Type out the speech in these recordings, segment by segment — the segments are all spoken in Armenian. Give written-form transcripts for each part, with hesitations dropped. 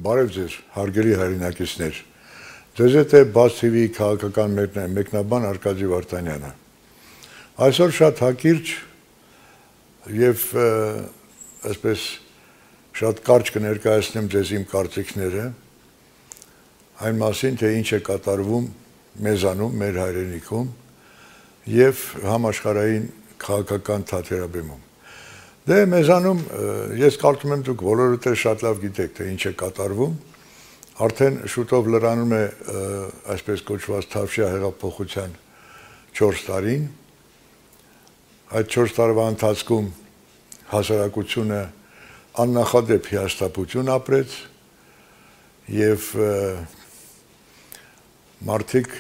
Բարև ձեզ, հարգելի հայրենակիցներ։ Ձեզ հետ է Բաց TV-ի քաղաքական մեկնաբան Արկադի Վարդանյանը։ Այսօր շատ հակիրճ եւ այսպես շատ կարճ կներկայացնեմ ձեզ իմ կարծիքները այն մասին, թե ինչ է կատարվում մեզանում, մեր հայրենիքում եւ համաշխարհային քաղաքական թատերաբեմում։ Դե մեզանում ես կարծում եմ դուք բոլորդ շատ լավ գիտեք, թե ինչ է կատարվում, արդեն շուտով լրանում է այսպես կոչված Թավշյա հեղափոխության 4 տարին, այդ 4 տարվա ընթացքում հասարակությունը աննախադեպ հիասթափություն ապրեց եւ մարդիկ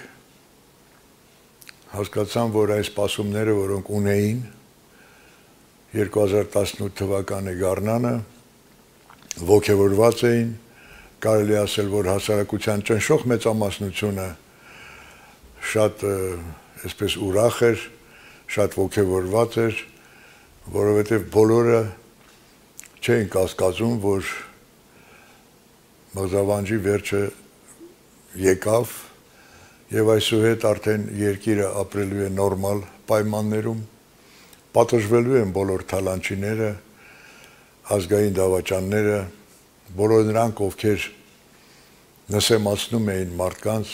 հասկացան, որ այս սպասումները, որոնք ունեին 2018 թվականի գարնանը ոգևորված էին, կարելի ասել, որ հասարակության ճնշող մեծամասնությունը շատ այսպես ուրախ էր, շատ ոգևորված էր, որովհետև բոլորը չէին կասկածում, որ մղձավանջի վերջը եկավ եւ այսուհետ արդեն երկիրը ապրելու է նորմալ պայմաններում, պատժվելու են բոլոր թալանչիները, ազգային դավաճանները, բոլոր նրանք, ովքեր նսեմացնում էին մարդկանց,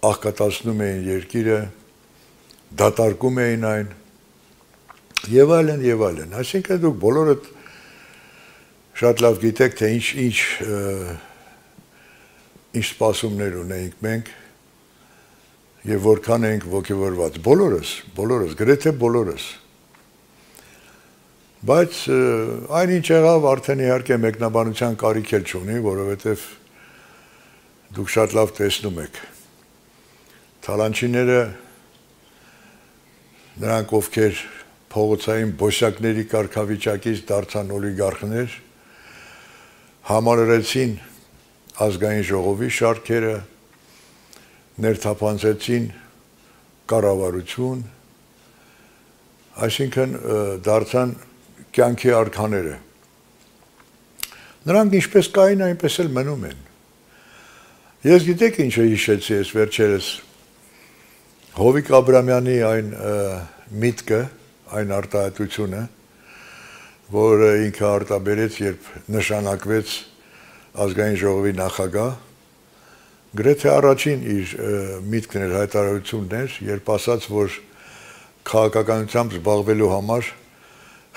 աղքատացնում էին երկիրը, դատարկում էին այն, եւ այլն եւ այլն։ Այսինքն դուք բոլորդ շատ լավ գիտեք, թե ինչ սպասումներ ունենք մենք եւ որքան ենք ոգևորված։ Բոլորս, գրեթե բոլորս։ Բայց այնինչ եղավ արդեն իհարկե մեկնաբանության կարիք էլ չունի, որովհետև դուք շատ լավ տեսնում եք։ Թալանչիները, նրանք ովքեր փողոցային բոսյակների կարգավիճակից դարձան օլիգարխներ, համալրեցին ազգային ժողովի շարքերը, ներթափանցեցին կառավարություն, այսինքն դարձան կյանքի արքաները։ Նրանք ինչպես կային, այնպես էլ մնում են։ Ես գիտեք ինչ հիշեցի ես վերջերս Հովիկ Աբրամյանի այն միտքը, այն արտահայտությունը, որ ինքը արտաբերեց, երբ նշանակվեց ազգային ժողովի նախագահ, գրեթե առաջին իր միտքն էր, հայտարարությունն էր, երբ ասաց, որ քաղաքականությամբ զբաղվելու համար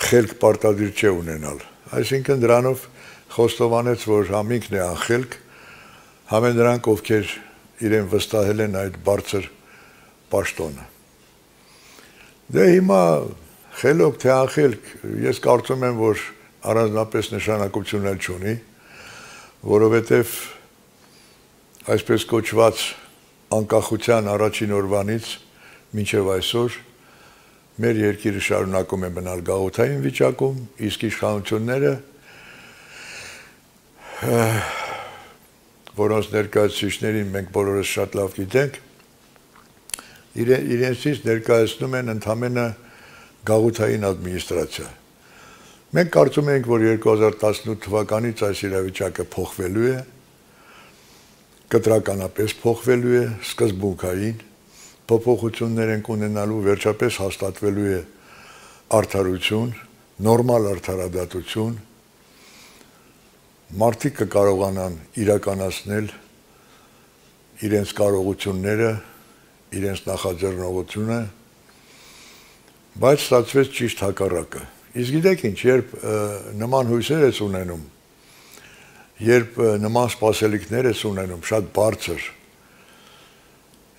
խելք պարտադիր չէ ունենալ։ Այսինքն դրանով խոստովանեց, որ համինքն է անխելք, համեն նրանք, ովքեր իրեն վստահել են այդ բարձր պաշտոնը։ Դե հիմա խելոք թե անխելք, ես կարծում եմ, որ առանձնապես նշանակություն էլ չունի, որովհետև այսպես կոչված անկախության առաջին օրվանից մինչև այսօր մեր երկիրը շարունակում է մնալ գաղութային վիճակում, իսկ իշխանությունները, որոնց ներկայացուցիչներին մենք բոլորս շատ լավ գիտենք, իրենցից ներկայացնում են ընդամենը գաղութային ադմինիստրացիա։ Մենք կարծում ենք, որ 2018 թվականից այս իրավիճակը փոխվելու է, կտրականապես փոխվելու է, սկզբունքային փոփոխություններ են ունենալու, վերջապես հաստատվելու է արդարություն, նորմալ արդարադատություն, մարդիկ կկարողանան իրականացնել իրենց կարողությունները, իրենց նախաձեռնողությունը, բայց ստացվեց ճիշտ հակառակը։ Իսկ գիտեք ինչ, երբ նման հույսեր ես ունենում, երբ նման սպասելիքներ ես ունենում, շատ բարձր,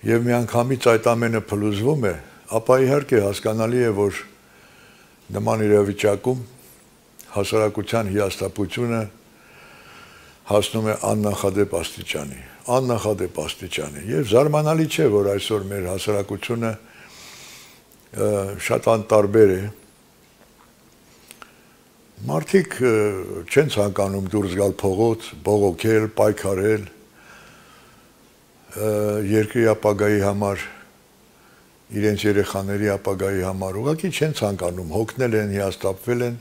եւ միանգամից այդ ամենը փլուզվում է, ապա իհարկե հասկանալի է, որ նման իրավիճակում հասարակության հիասթափությունը հասնում է աննախադեպ աստիճանի, եւ զարմանալի չէ, որ այսօր մեր հասարակությունը շատ անտարբեր է, մարդիկ չեն ցանկանում դուրս գալ փողոց, բողոքել, պայքարել, երկրի ապագայի համար, իրենց երեխաների ապագայի համար, ուղղակի չեն ցանկանում, հոգնել են, հիասթափվել են,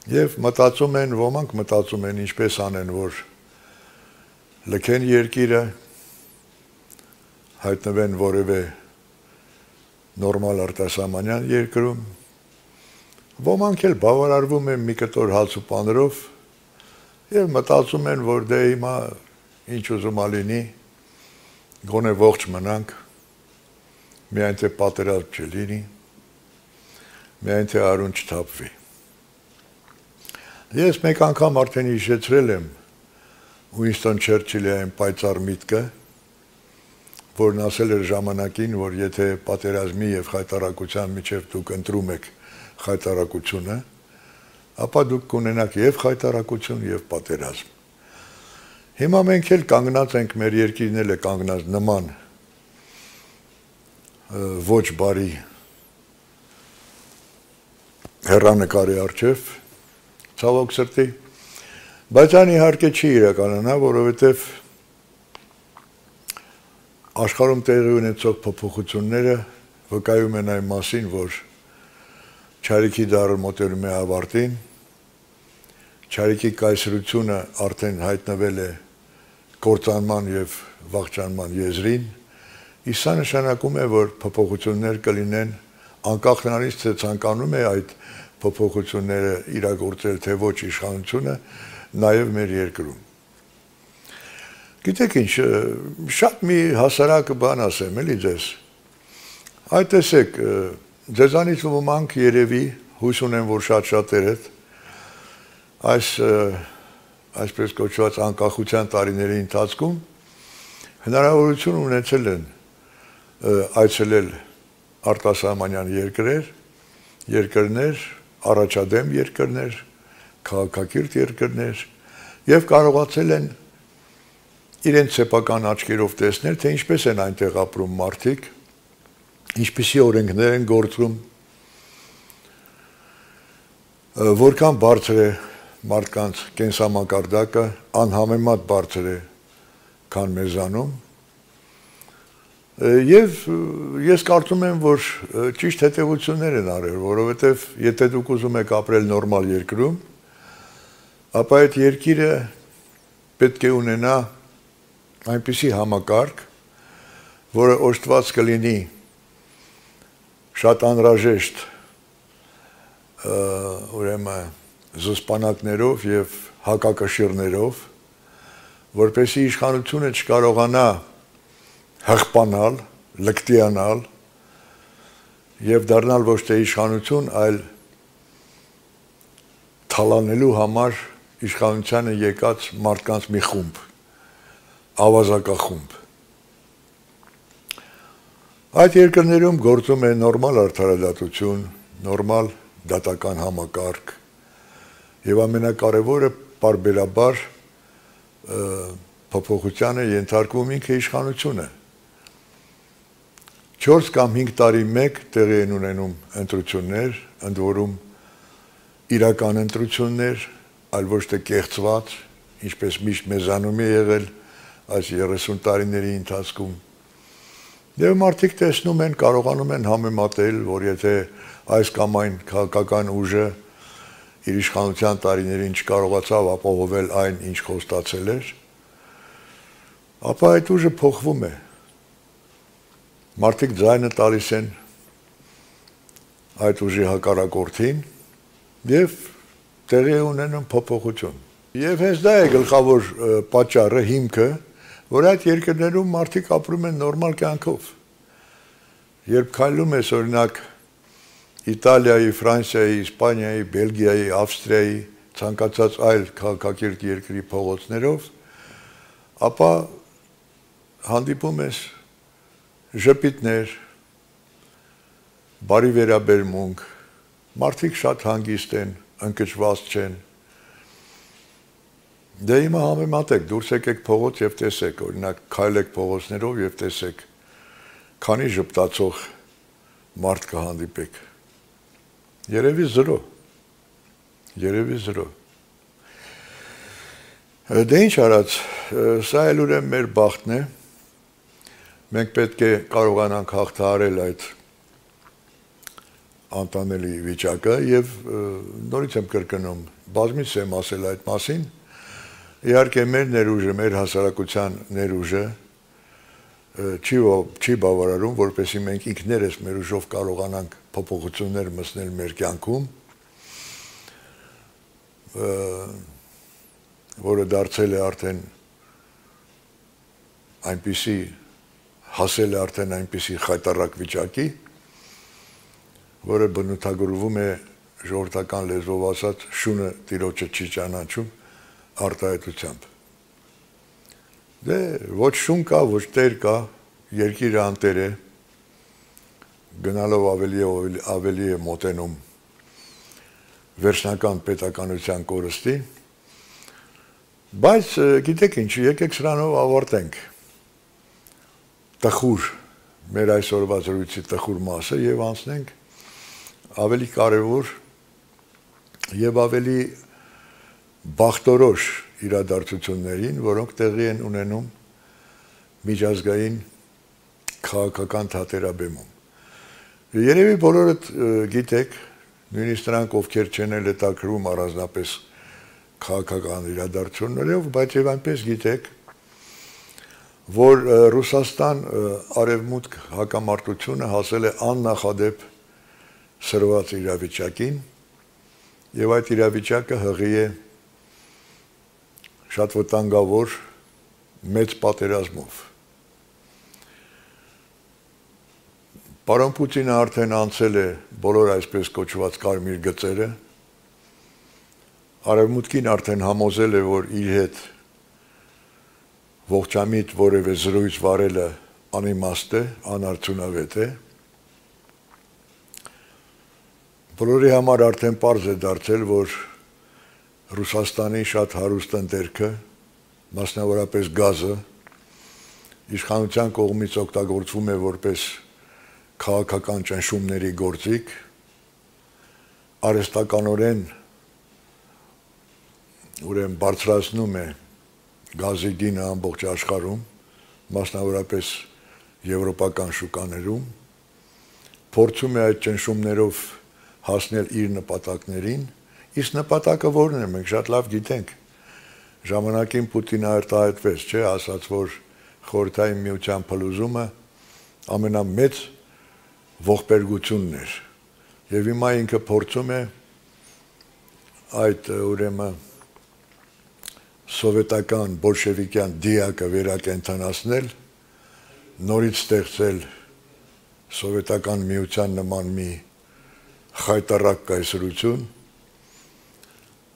Եվ մտածում են, ոմանք մտածում են ինչպես անեն, որ լքեն երկիրը, հայտնվեն որևէ նորմալ արտասահմանյան երկրում, ոմանք էլ բավարարվում են մի կտոր հաց ու պանրով եւ մտածում են, որ դե հիմա ինչ ուզում ալինի, գոնե ողջ մնանք, միայն թե պատերազմ չլինի, միայն թե արուն չթափվի։ Ես մեկ անգամ արդեն հիշեցրել եմ Ուինստոն Չերչիլի այն պայծառ միտքը, որն ասել էր ժամանակին, որ եթե պատերազմի եւ խայտարակության միջև դուք ընտրում եք խայտարակությունը, ապա դուք կունենաք եւ խայտարակություն եւ պատերազմ։ Հիմա մենք էլ կանգնած ենք, մեր երկիրն էլ է կանգնած նման ոչ բարի հեռանկարի առջև, ցավոք սրտի, բայց այն իհարկե չի իրականանա, որովհետև աշխարհում տեղի ունեցող փոփոխությունները վկայում են այն մասին, որ Չարիքի դարը մոտենում է ավարտին, Չարիքի կայսրությունը արդեն հայտնվել է կործանման եւ վախճանման եզրին, իսկ սա նշանակում է, որ փոփոխություններ կլինեն անկախ նրանից, թե ցանկանում է այդ փոփոխությունները իրագործել թե ոչ իշխանությունը, նաև մեր երկրում։ Գիտեք ինչ, շատ մի հասարակ բան ասեմ, էլի ձեզ։ Այդ տեսեք, ձեզանից ոմանք երևի հույս ունեն, որ շատ-շատերդ այսպես կոչված անկախության տարիների ընթացքում հնարավորություն ունեցել են այցելել արտասահմանյան երկրներ, առաջադեմ երկրներ, քաղաքակիրթ երկրներ եւ կարողացել են իրենց սեփական աչքերով տեսնել, թե ինչպես են այնտեղ ապրում մարդիկ, ինչպիսի օրենքներ են գործում, որքան բարձր է մարդկանց կենսամակարդակը, անհամեմատ բարձր է, քան մեզանում։ Եվ ես կարծում եմ, որ ճիշտ հետևություններ են արել, որովհետև եթե դուք ուզում եք ապրել նորմալ երկրում, ապա այդ երկիրը պետք է ունենա այնպիսի համակարգ, որը օժտված կլինի շատ անհրաժեշտ ուրեմն զսպանակներով եւ հակակշիռներով, որպեսզի իշխանությունը չկարողանա հղպանալ, լկտիանալ եւ դառնալ ոչ թե իշխանություն, այլ թալանելու համար իշխանությանը եկած մարդկանց մի խումբ, ավազակախումբ։ Այդ երկրներում գործում է նորմալ արդարադատություն, նորմալ դատական համակարգ եւ ամենակարևորը պարբերաբար փոփոխությանը ենթարկվում ինքը իշխանությունը։ 4 կամ 5 տարի մեկ տեղի են ունենում ընտրություններ, ընդ որում իրական ընտրություններ, այլ ոչ թե կեղծված, ինչպես միշտ մեզանում է եղել այս 30 տարիների ընթացքում։ Եվ մարդիկ տեսնում են, կարողանում են համեմատել, որ եթե այս կամ այն քաղաքական ուժը իր իշխանության տարիներին չկարողացավ ապահովել այն, ինչ խոստացել էր, ապա այդ ուժը փոխվում է։ Մարդիկ ձայնը տալիս են այդ ուժի հակառակորդին եւ տեղի ունենում փոփոխություն։ Եվ հենց դա է գլխավոր պատճառը, հիմքը, որ այդ երկրներում մարդիկ ապրում են նորմալ կյանքով։ Երբ քայլում ես օրինակ Իտալիայի, Ֆրանսիայի, Իսպանիայի, Բելգիայի, Ավստրիայի, ցանկացած այլ քաղաքակիրթ երկրի փողոցներով, ապա հանդիպում ես ժպիտներ, բարի վերաբերմունք, մարդիկ շատ հանգիստ են, ընկճված չեն։ Դե հիմա համեմատեք, դուրս եկեք փողոց եւ տեսեք, օրինակ քայլեք փողոցներով եւ տեսեք, քանի ժպտացող մարդ կհանդիպեք։ Երևի 0։ Երևի 0։ Դե ինչ արած, սա էլ ուրեմն մեր բախտն է։ Մենք պետք է կարողանանք հաղթահարել այդ անտանելի վիճակը եւ նորից եմ կրկնում, բազմից եմ ասել այդ մասին, իհարկե մեր ներուժը, մեր հասարակության ներուժը չի բավարարում, որպեսզի մենք ինքներս մեր ուժով կարողանանք փոփոխություններ մտցնել մեր կյանքում, որը դարձել է արդեն այնպիսի հասել է արդեն այնպիսի խայտառակ վիճակի, որը բնութագրվում է ժողովրդական լեզվով ասած շունը տիրոջը չի ճանաչում արտահայտությամբ։ Դե ոչ շուն կա, ոչ տեր կա, երկիրը անտեր է, գնալով ավելի է մոտենում վերջնական պետականության կորստի, բայց գիտեք ինչ, եկեք սրանով ավարտենք տխուր, մեր այսօրվա զրույցի տխուր մասը եւ անցնենք ավելի կարևոր եւ ավելի բախտորոշ իրադարձություններին, որոնք տեղի են ունենում միջազգային քաղաքական թատերաբեմում։ Երևի բոլորդ գիտեք, նույնիսկ նրանք, ովքեր չեն հետաքրում առանձնապես քաղաքական իրադարձություններով, բայց եւ այնպես գիտեք, որ Ռուսաստան արևմուտք հակամարտությունը հասել է աննախադեպ սրված իրավիճակին եւ այդ իրավիճակը հղի է շատ վտանգավոր մեծ պատերազմով։ Պարոն Պուտինը արդեն անցել է բոլոր այսպես կոչված կարմիր գծերը, արևմուտքին արդեն համոզել է, որ իր հետ ողջամիտ որևէ զրույց վարելը անիմաստ է, անարդյունավետ է։ Բոլորի համար արդեն պարզ է դարձել, որ Ռուսաստանի շատ հարուստ ընտերքը, մասնավորապես գազը, իշխանության կողմից օգտագործվում է որպես քաղաքական ճնշումների գործիք, արհեստականորեն ուրեմն բարձրացնում է գազի գինը ամբողջ աշխարհում, մասնավորապես եվրոպական շուկաներում, փորձում է այդ ճնշումներով հասնել իր նպատակներին, իսկ նպատակը որն է, մենք շատ լավ գիտենք, ժամանակին Պուտինը արտահայտվեց, չէ, ասաց, որ Խորհրդային Միության փլուզումը ամենամեծ ողբերգությունն էր, եւ հիմա ինքը փորձում է այդ ուրեմն սովետական բոլշևիկյան դիակը վերակենդանացնել, նորից ստեղծել սովետական միության նման մի խայտառակ կայսրություն։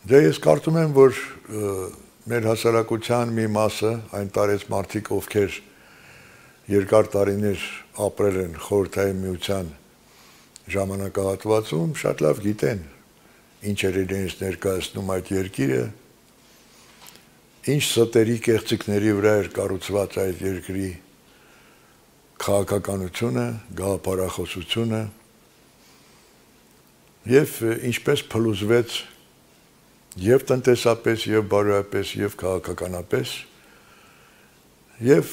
Դե ես կարծում եմ, որ մեր հասարակության մի մասը, այն տարեց մարդիկ, ովքեր երկար տարիներ ապրել են Խորհրդային Միության ժամանակահատվածում, շատ լավ գիտեն, ինչ էր իրենից ներկայացնում այդ երկիրը, ինչ ստերի կեղծիքների վրա էր կառուցված այդ երկրի քաղաքականությունը, գաղափարախոսությունը եւ ինչպես փլուզվեց եւ տնտեսապես, եւ բարոյապես, եւ քաղաքականապես եւ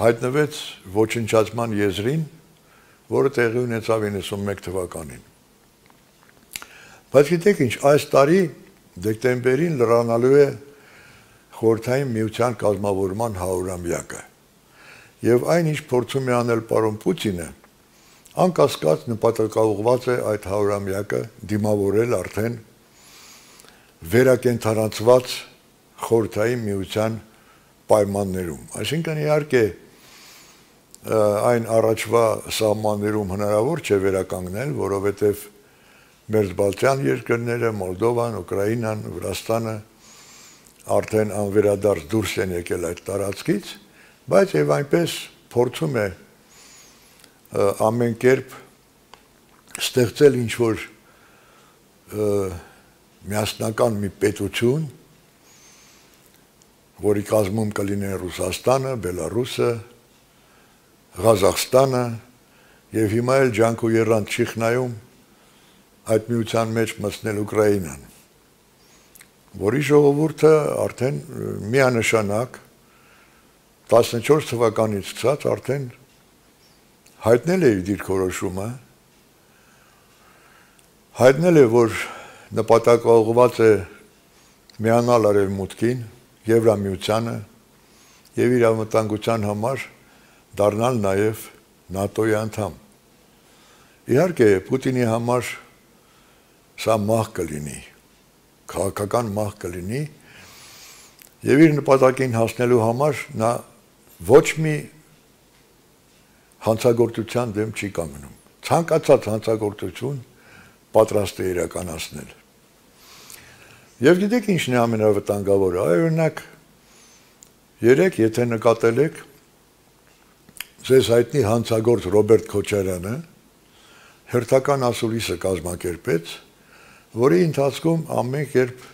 հայտնվեց ոչնչացման եզրին, որը տեղի ունեցավ 91 թվականին։ Բայց գիտեք ինչ, այս տարի դեկտեմբերին լրանալու է Խորհրդային Միության կազմավորման 100-ամյակը։ Եվ այն ինչ փորձում է անել պարոն Պուտինը, անկասկած նպատակաուղղված է այդ 100-ամյակը դիմավորել արդեն վերակենդանացված Խորհրդային Միության պայմաններում։ Այսինքն իհարկե այն առաջվա սահմաններում հնարավոր չէ վերականգնել, որովհետև Մերձբալթյան երկրները, Մոլդովան, Ուկրաինան, Վրաստանը արդեն անվերադարձ դուրս են եկել այդ տարածքից, բայց եւ այնպես փորձում է ամեն կերպ ստեղծել ինչ-որ միասնական մի պետություն, որի կազմում կլինեն Ռուսաստանը, Բելարուսը, Ղազախստանը եւ հիմա էլ ջանք ու եռանդ չի խնայում այդ միության մեջ մտցնել Ուկրաինան, որի ժողովուրդը արդեն միանշանակ 14 թվականից սկսած արդեն հայտնել է իր դիրքորոշումը հայտնել է, որ նպատակաուղղված է միանալ Արևմուտքին, Եվրամիությանը եւ իր անվտանգության համար դառնալ նաեւ ՆԱՏՕ-ի անդամ։ Իհարկե, Պուտինի համար սա մահ կլինի, քաղաքական մահ կլինի եւ իր նպատակին հասնելու համար նա ոչ մի հանցագործության դեմ չի կանգնում։ Ցանկացած հանցագործություն պատրաստ է իրականացնել։ Եվ գիտեք ինչն է ամենավտանգավորը, օրինակ երեք եթե նկատել եք ձեզ հայտնի հանցագործ Ռոբերտ Քոչարյանը հերթական ասուլիսը կազմակերպեց, որի ընթացքում ամեն կերպ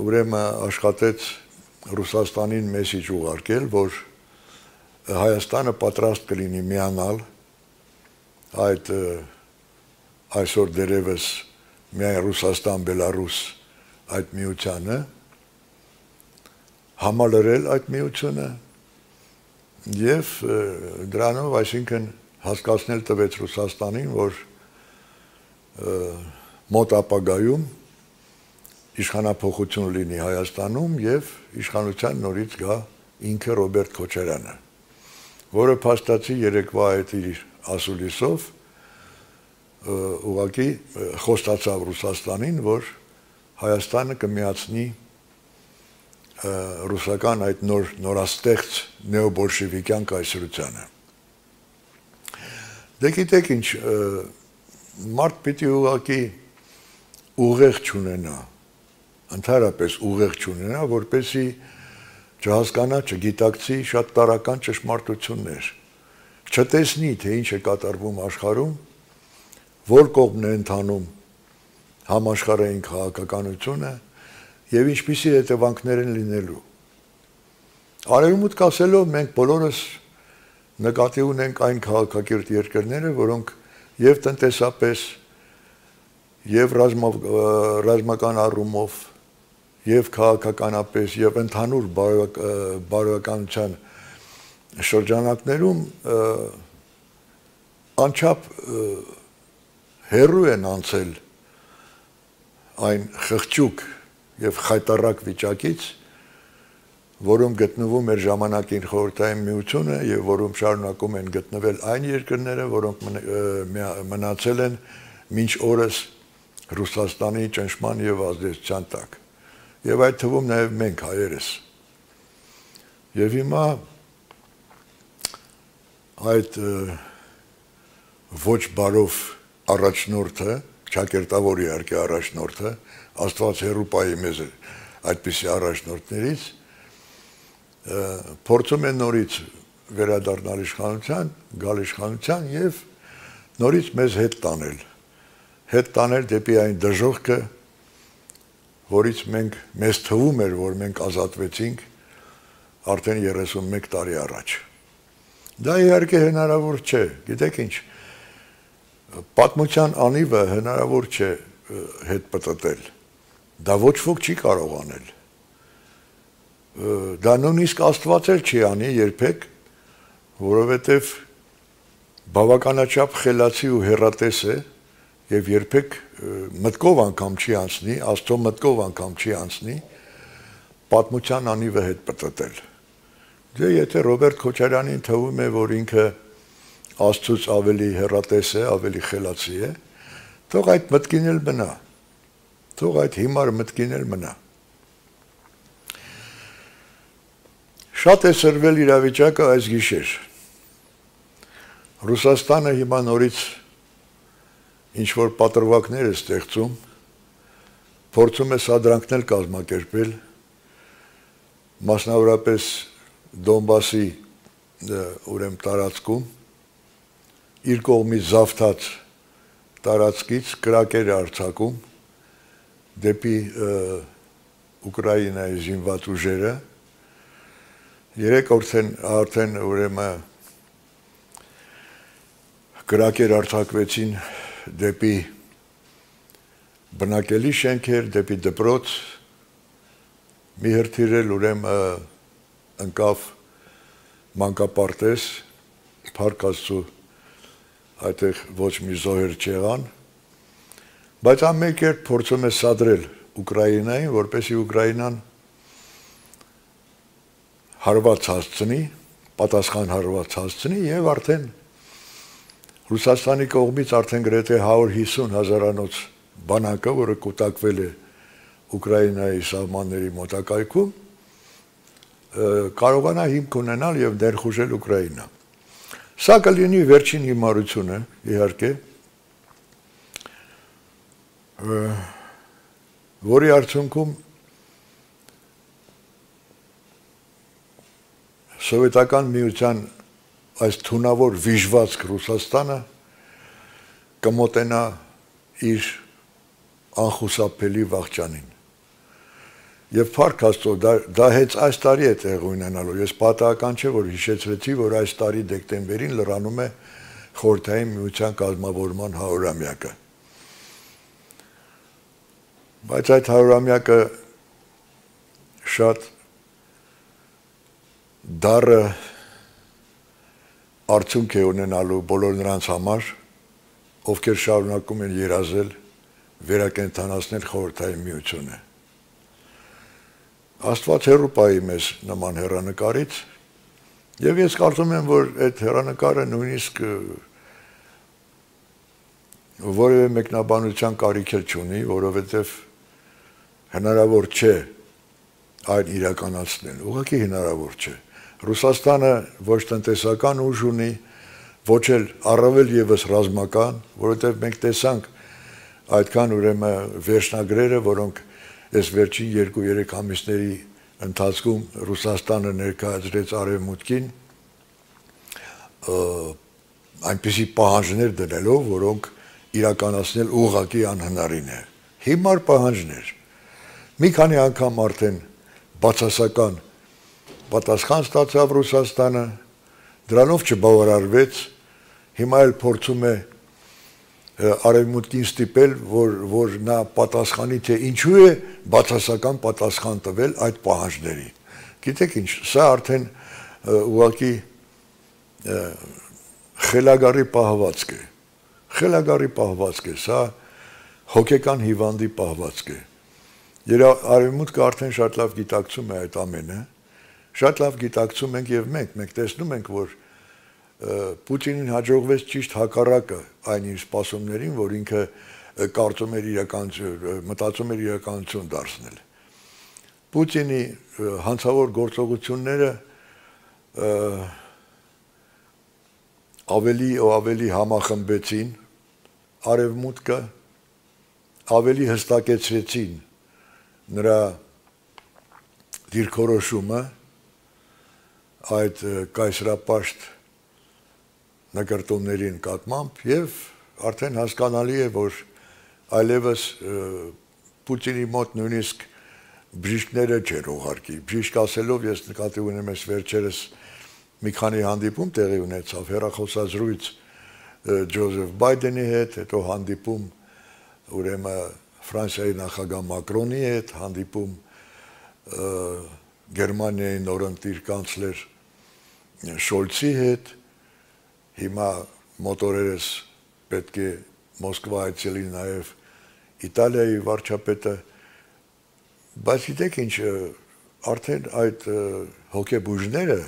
ուրեմն աշխատեց Ռուսաստանին մեսիջ ուղարկել, որ Հայաստանը պատրաստ կլինի միանալ այդ այսօր դերևս միայն Ռուսաստան, Բելարուս այդ միությանը, համալրել այդ միությունը եւ դրանով, այսինքն հասկացնել տվեց Ռուսաստանին, որ մոտ ապագայում իշխանափոխություն լինի Հայաստանում եւ իշխանության նորից գա ինքը Ռոբերտ Քոչարյանը, որը փաստացի երեկվա այդ իր ասուլիսով ուղղակի խոստացավ Ռուսաստանին, որ Հայաստանը կմիացնի ռուսական այդ նորաստեղծ նեոբոլշևիկյան կայսրությանը։ Դե գիտեք ինչ, մարդ պիտի ուղղակի ուղեղ չունենա, ընդհանրապես ուղեղ չունենա, որպեսզի չհասկանա, չգիտակցի շատ տարրական ճշմարտություններ, չտեսնի, թե ինչ է կատարվում աշխարհում, որ կողմն է ընթանում համաշխարհային քաղաքականությունը եւ ինչպիսի հետևանքներ են լինելու։ Արևմուտք ասելով մենք բոլորս նկատի ունենք այն քաղաքակիրթ երկրները, որոնք եւ տնտեսապես եւ ռազմական առումով եւ քաղաքականապես եւ ընդհանուր բարոյականության շրջանակներում անչափ հեռու են անցել այն խղճուկ եւ խայտառակ վիճակից, որում գտնվում էր ժամանակին խորհրդային միությունը եւ որում շարունակում են գտնվել այն երկրները, որոնք մնացել են մինչ օրս Ռուսաստանի ճնշման եւ ազդեցության տակ։ Եվ այդ թվում նաեւ մենք հայերս։ Եվ հիմա այդ ոչ բարով առաջնորդը, ճակերտավոր իհարկե առաջնորդը, Աստված հեռու պահի մեզ այդպիսի առաջնորդներից, փորձում է նորից վերադառնալ իշխանության, գալ իշխանության եւ նորից մեզ հետ տանել դեպի այն դժոխքը, որից մեզ թվում էր, որ մենք ազատվեցինք արդեն 31 տարի առաջ։ Դա իհարկե հնարավոր չէ, գիտեք ինչ, պատմության անիվը հնարավոր չէ հետ պտտել, դա ոչ ոք չի կարող անել, դա նույնիսկ Աստված էլ չի անի երբեք, որովհետև բավականաչափ խելացի ու հեռատես է եւ երբեք մտքով անգամ չի անցնի, Աստծո մտքով անգամ չի անցնի պատմության անիվը հետ պտտել։ Դե եթե Ռոբերտ Քոչարյանին թվում է, որ ինքը Աստծուց ավելի հեռատես է, ավելի խելացի է, թող այդ մտքին էլ մնա, թող այդ հիմար մտքին էլ մնա։ Շատ է սրվել իրավիճակը այս գիշեր։ Ռուսաստանը հիմա նորից ինչ-որ պատրվակներ է ստեղծում, փորձում է սադրանքներ կազմակերպել, մասնավորապես Դոնբասի ուրեմն տարածքում, իր կողմից զավթած տարածքից կրակեր արձակում դեպի Ուկրաինայի զինված ուժերը, երեք արդեն ուրեմն կրակեր արձակվեցին դեպի բնակելի շենքեր, դեպի դպրոց, մի հրթիռել ուրեմն ընկավ մանկապարտեզ, Փառք Աստծո, այդտեղ ոչ մի զոհեր չեղան, Բայց ամեն կերպ փորձում է սադրել Ուկրաինային, որպեսզի Ուկրաինան հարված հասցնի, պատասխան հարված հասցնի եւ արդեն Ռուսաստանի կողմից արդեն գրեթե 150 հազարանոց բանակը, որը կուտակվել է Ուկրաինայի սահմանների մոտակայքում, կարողանա հիմք ունենալ եւ ներխուժել Ուկրաինա։ Սա կլինի վերջին հիմարությունը, իհարկե, որի արդյունքում Սովետական միության այս թունավոր վիժվածք Ռուսաստանը կմոտենա իր անխուսափելի վաղճանին։ Եվ փառք Աստծո, դա հենց այս տարի է տեղ ունենալու։ Ես պատահական չէ, որ հիշեցրեցի, որ այս տարի դեկտեմբերին լրանում է Խորհրդային Միության կազմավորման 100-ամյակը։ Բայց այդ 100-ամյակը շատ դառը արդյունք է ունենալու բոլոր նրանց համար, ովքեր շարունակում են երազել վերակենդանացնել Խորհրդային Միությունը։ Աստված հեռու պահի մեզ նման հեռանկարից, եւ ես կարծում եմ, որ այդ հեռանկարը նույնիսկ որևէ մեկնաբանության կարիք չունի, որովհետեւ հնարավոր չէ այն իրականացնել, ուղղակի հնարավոր չէ։ Ռուսաստանը ոչ տնտեսական ուժ ունի, ոչ էլ առավել եւս ռազմական, որովհետեւ մենք տեսանք այդքան ուրեմն վերջնագրերը, որոնք այս վերջին 2-3 ամիսների ընթացքում Ռուսաստանը ներկայացրեց արևմուտքին, այնպիսի պահանջներ դնելով, որոնք իրականացնել ուղղակի անհնարին է։ Հիմար պահանջներ։ Մի քանի անգամ արդեն բացասական պատասխան ստացավ Ռուսաստանը, դրանով չբավարարվեց, հիմա էլ փորձում է արևմուտքին ստիպել, որ նա պատասխանի, թե ինչու է բացասական պատասխան տվել այդ պահանջների։ Գիտեք ինչ, սա արդեն ուղղակի խելագարի պահվածք է։ Խելագարի պահվածք է, սա հոգեկան հիվանդի պահվածք է։ Արևմուտքը արդեն շատ լավ գիտակցում է այդ ամենը, շատ լավ գիտակցում ենք եւ մենք տեսնում ենք, որ Պուտինին հաջողվեց ճիշտ հակառակը այն իր սպասումներին, որ ինքը կարծում էր մտածում էր իրականություն դարձնել։ Պուտինի հանցավոր գործողությունները ավելի ու ավելի համախմբեցին արևմուտքը, ավելի հստակեցրեցին նրա դիրքորոշումը այդ կայսրապաշտ նկարտումների նկատմամբ եւ արդեն հասկանալի է, որ այլևս Պուտինի մոտ նույնիսկ բժիշկները չեր ուղարկի։ Բժիշկ ասելով ես նկատի ունեմ այս վերջերս մի քանի հանդիպում տեղի ունեցավ հեռախոսազրույց Ջոզեֆ Բայդենի հետ, հետո հանդիպում ուրեմն Ֆրանսիայի նախագահ Մակրոնի հետ, հանդիպում Գերմանիայի նորընտիր կանցլեր Շոլցի հետ, հիմա մոտորերս պետք է Մոսկվա այցելի նաև Իտալիայի վարչապետը, բայց գիտեք ինչ, արդեն այդ հոգեբուժները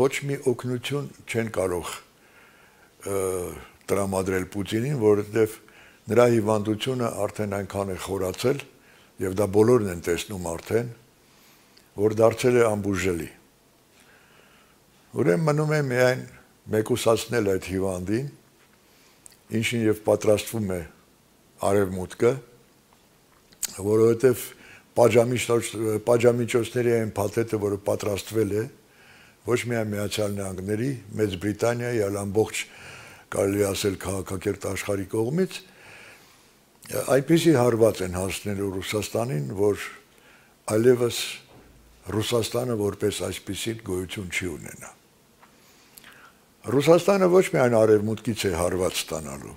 ոչ մի օգնություն չեն կարող տրամադրել Պուտինին, որովհետև նրա հիվանդությունը արդեն այնքան է խորացել, եւ դա բոլորն են տեսնում արդեն, որ դարձել է անբուժելի։ Ուրեմն մնում է միայն մեկուսացնել այդ հիվանդին, ինչին եւ պատրաստվում է արևմուտքը, որովհետեւ պատժամիջոցների այն փաթեթը, որը պատրաստվել է, ոչ միայն Միացյալ Նահանգների, Մեծ Բրիտանիայի, այլ ամբողջ կարելի ասել քաղաքակիրթ աշխարհի կողմից այնպիսի հարված են հասնելու Ռուսաստանին, որ այլևս Ռուսաստանը որպես այսպիսի գոյություն չի ունենա։ Ռուսաստանը ոչ միայն արևմուտքից է հարված ստանալու,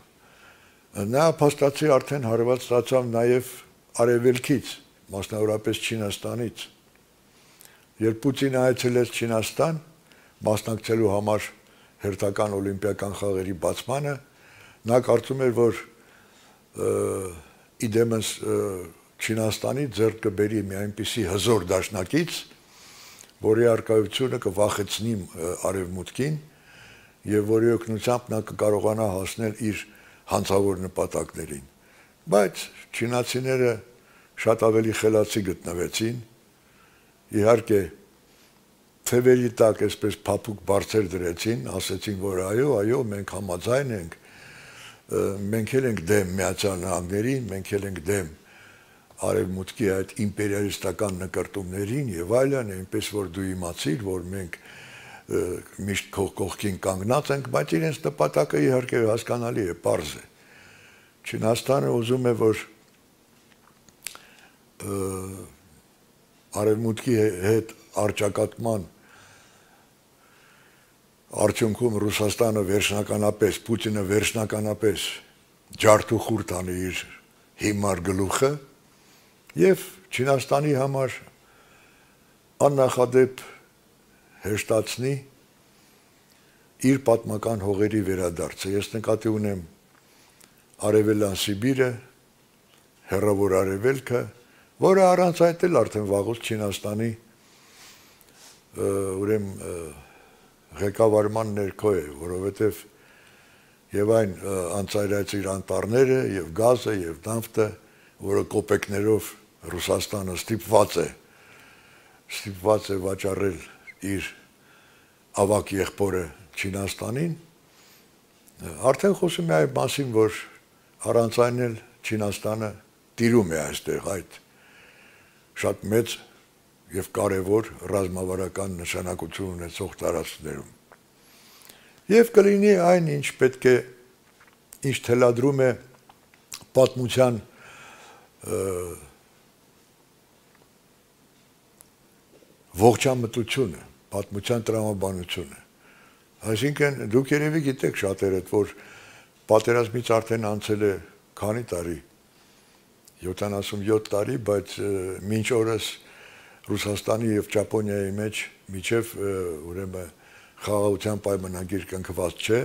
նա փաստացի արդեն հարված ստացավ նաև արևելքից, մասնավորապես Չինաստանից։ Երբ Պուտինը այցելեց Չինաստան, մասնակցելու համար հերթական օլիմպիական խաղերի բացմանը, նա կարծում էր, որ իդեմս Չինաստանի ձեռք կբերի մի այնպիսի հզոր դաշնակից, որի արկայությունը կվախեցնի արևմուտքին եւ որի օգնությամբ նա կկարողանա հասնել իր հանցավոր նպատակներին։ Բայց չինացիները շատ ավելի խելացի գտնվեցին, իհարկե թևերի տակ այսպես փափուկ բարձր դրեցին, ասեցին, որ այո, մենք համաձայն ենք, մենք էլ ենք դեմ Միացյալ Նահանգներին, մենք էլ ենք դեմ արևմուտքի այդ իմպերիալիստական նկարտումներին եւ այլն, այնպես որ դու իմացիր, որ մենք միշտ կողքին կանգնած ենք, բայց իրենց նպատակը իհարկե հասկանալի է, պարզ է։ Չինաստանը ուզում է, որ արևմուտքի հետ արճակատման արդյունքում Ռուսաստանը վերջնականապես, Պուտինը վերջնականապես ջարդուխուր տանի իր հիմար գլուխը եւ Չինաստանի համար աննախադեպ հեշտացնի իր պատմական հողերի վերադարձը։ Ես նկատի ունեմ Արևելյան Սիբիրը, Հեռավոր Արևելքը, որը առանց այդ էլ արդեն վաղուց Չինաստանի ուրեմն ղեկավարման ներքո է, որովհետև եւ այն անցայրացիր անտառները եւ գազը եւ նավթը, որը կոպեկներով Ռուսաստանը ստիպված է վաճառել իր ավակ եղբորը Չինաստանին, արդեն խոսում է այն մասին, որ առանց այն էլ Չինաստանը տիրում է այստեղ այդ շատ մեծ եւ կարեւոր ռազմավարական նշանակություն ունեցող տարածքներում։ Եվ կլինի այն, ինչ պետք է, ինչ թելադրում է պատմության ողջամտությունը, պատմության տրամաբանությունը։ Այսինքն դուք երևի գիտեք շատերդ, որ պատերազմից արդեն անցել է քանի տարի, 77 տարի, բայց մինչ օրս Ռուսաստանի եւ Ճապոնիայի մեջ միջև ուրեմն խաղաղության պայմանագիր կնքված չէ,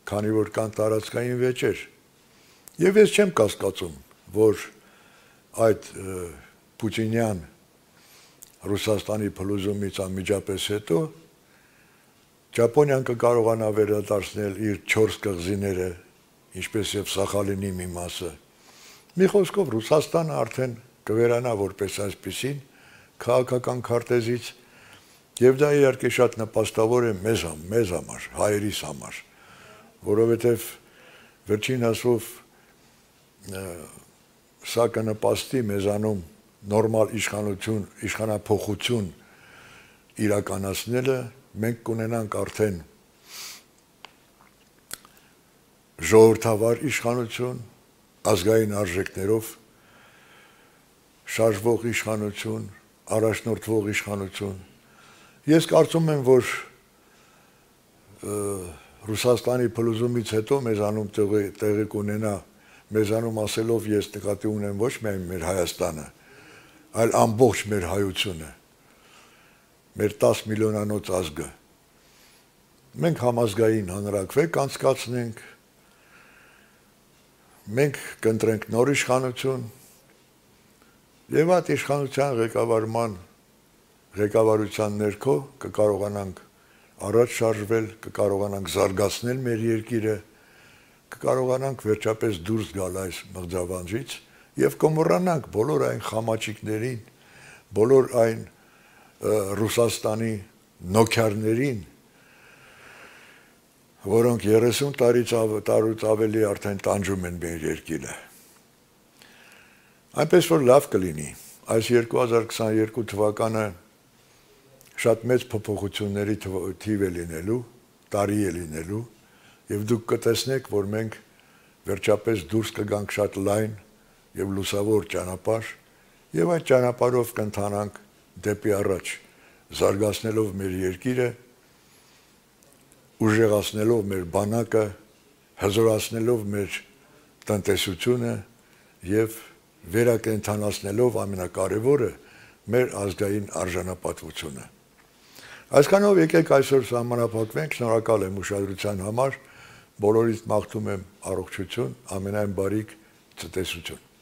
քանի որ կան տարածքային վեճեր։ Եվ ես չեմ կասկածում, որ այդ պուտինյան Ռուսաստանի փլուզումից անմիջապես հետո Ճապոնիան կկարողանա վերադարձնել իր 4 կղզիները, ինչպես եւ Սախալինի մի մասը։ Մի խոսքով Ռուսաստանը արդեն կվերանա որպես այսպեսին քաղաքական քարտեզից եւ դա իհարկե շատ նպաստավոր է մեզ համար, հայերիս համար, որովհետեւ վերջին ասով սա կնպաստի մեզանում նորմալ իշխանափոխություն իրականացնելը, մենք կունենանք արդեն ժողովրդավար իշխանություն, ազգային արժեքներով շարժվող իշխանություն, առաջնորդվող իշխանություն։ Ես կարծում եմ, որ Ռուսաստանի փլուզումից հետո մեզանում տեղի կունենա, մեզանում ասելով ես նկատի ունեմ ոչ միայն մեր Հայաստանը, այլ ամբողջ մեր հայությունը, մեր 10 միլիոնանոց ազգը։ Մենք համազգային հանրաքվե կանցկացնենք, մենք կընտրենք նոր իշխանություն եւ այդ իշխանության ղեկավարության ներքո կկարողանանք առաջ շարժվել, կկարողանանք զարգացնել մեր երկիրը, կկարողանանք վերջապես դուրս գալ այս մղձավանջից եւ կմոռանանք բոլոր այն խամաճիկներին, բոլոր այն Ռուսաստանի նոքյարներին, որոնք 30 տարուց ավելի արդեն տանջում են մեր երկիրը։ Այնպես որ լավ կլինի, այս 2022 թվականը շատ մեծ փոփոխությունների թիվ է լինելու, տարի է լինելու, եւ դուք կտեսնեք, որ մենք վերջապես դուրս կգանք շատ լայն եւ լուսավոր ճանապարհ, եւ այդ ճանապարհով կընթանանք դեպի առաջ, զարգացնելով մեր երկիրը, ուժեղացնելով մեր բանակը, հզորացնելով մեր տնտեսությունը եւ վերակենդանացնելով ամենակարևորը մեր ազգային արժանապատվությունը։ Այսքանով եկեք այսօր սահմանափակվենք, շնորհակալ եմ ուշադրության համար, բոլորից մաղթում եմ առողջություն, ամենայն բարիք, ցտեսություն։